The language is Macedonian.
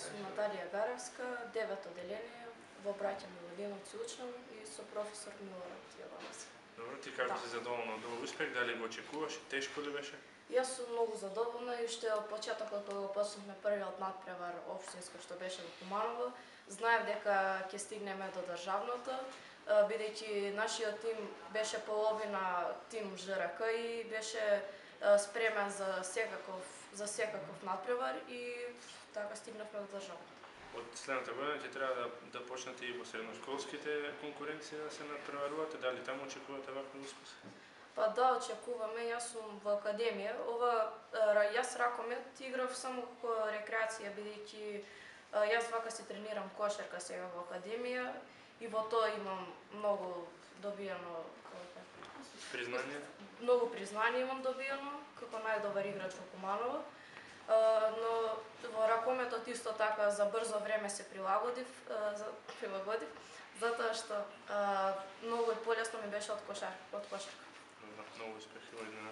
Јас сум Наталија Гаревска, 9 оделение, во Браќа Милодиновци учам и со професор Милорад Јовановски. Добро, ти како си задоволна од овој успех? Дали го очекуваш? Тешко ли беше? Јас сум многу задоволна и уште од почетокот кога го почнавме првиот надпревар општинско што беше во Куманово, знаев дека ќе стигнеме до државното, бидејќи нашиот тим беше половина тим ЖРК и беше спремен за секаков надпревар и така стигнавме до државното. Од следната година ќе треба да почнете и во средношколските конкуренции да се надпреварувате, дали таму очекувате вакви успеси? Па да, очекуваме. Јас сум во академија. Јас ракомет играв само како рекреација, бидејќи јас вака се тренирам кошарка сега во академија и во тоа имам многу добиено признание. Многу признание имам добиено како најдобар играч во Куманово. Но во ракометот исто така за брзо време се прилагодив, затоа што многу полесно ми беше од кошарка. Многу успех и во иднина.